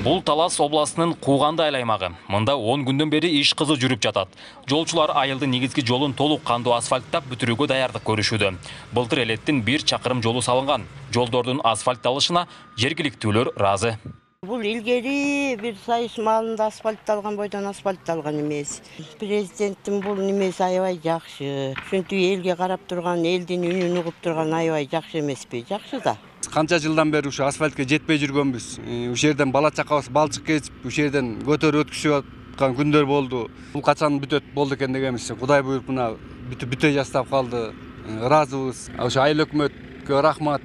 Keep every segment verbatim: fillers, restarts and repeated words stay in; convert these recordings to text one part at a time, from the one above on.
Бул Талас областынын Кууганды айыл аймагы. Мында он күндөн бери иш кызуу жүрүп жатат. Жолчулар айылдын негизги жолун толук кандуу асфальттап бүтүрүүгө даярдык көрүшүүдө. Былтыр элеттин бир чакырым жолу салынган. Жолдордун асфальтталышына жергиликтүүлөр ыраазы. Бул илгери бир сайыс маалында асфальтталган бойдон асфальтталган эмес. Президенттин бул немеси аябай жакшы. Ушинтип элге карап турган, элдин үнүн угуп турган аябай жакшы эмеспи? Жакшы да. Канча жылдан бери ушу асфальтка жетпей жүргөнбүз. Ушул жерден бала чакабыз балчык кесип, ушул жерден көтөрүп өткүзүп аткан күндөр болду. Бул качан бүтөт болду экен дегенбиз. Кудай буйруп мына бүтүп бүтө жастап калды. Ыраазыбыз. Ошо айыл өкмөткө рахмат.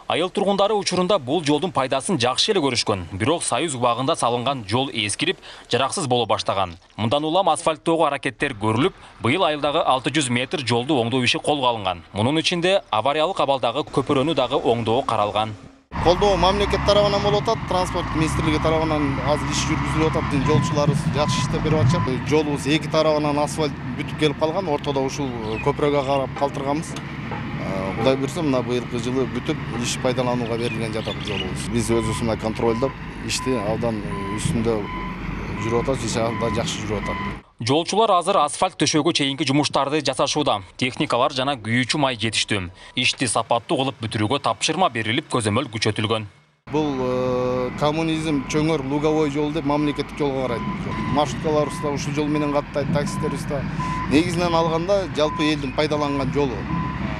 Айыл тургундары учурунда бул жолдун пайдасын жакшы эле көрүшкөн. Бирок Союз убагында салынган жол эскирип, жараксыз боло баштаган. Мындан улам асфальттоого аракеттер көрүлүп, быйыл айылдагы алты жүз метр жолду оңдоо иши колго алынган. Мунун ичинде авариялык абалдагы көпүрөнү дагы оңдоо каралган. Колдоо мамлекет тарабынан болуп атат, транспорт министрлиги тарабынан азыр иш жүргүзүлүп атат. Жолчуларыбыз жакшы иштеп берип атышат. Жолубуз эки тарабынан асфальт бүтүп келип калган, ортодо ушул көпүрөгө карап калтырганбыз. Кудай буйрса, мына быйылкы жылы бүтүп, иш пайдаланууга берилген жатат жолубуз. Биз өзүбүз мына контролдоп, ишти абдан үстүндө жүрүп атабыз, иш абдан жакшы жүрүп атат. Жолчулар азыр асфальт төшөөгө чейинки жумуштарды жасашууда. Техникалар жана күйүүчү май жетиштүү. Ишти сапаттуу кылып бүтүрүүгө тапшырма берилип, көзөмөл күчөтүлгөн. Бул коммунизм чөңөр луговой жол деп мамлекеттик жолго карайт. Маршруткаларыбыз да ушул жол менен каттайт, таксистерибиз да. Негизинен алганда жалпы элдин пайдаланган жолу.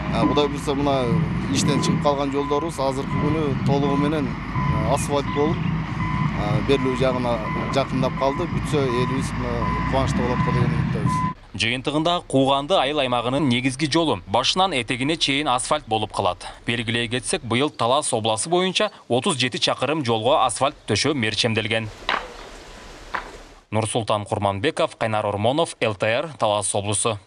Кудай буйрса, мына иштен чыгып калган жолдорубуз азыркы күнү толугу менен асфальт болуп, берилүү жагына жакындап калды. Бүтсө элибиз кубанычта болот го деген үмүттөбүз. Жыйынтыгында Кууганды айыл аймагынын негизги жолу башынан этегине чейин асфальт болуп калат. Белгилей кетсек, быйыл Талас областы боюнча отуз жети чакырым жолго асфальт төшөө мерчемделген. Нурсултан Курманбеков, Кайнар Ормонов, эл тэ эр, Талас облусу.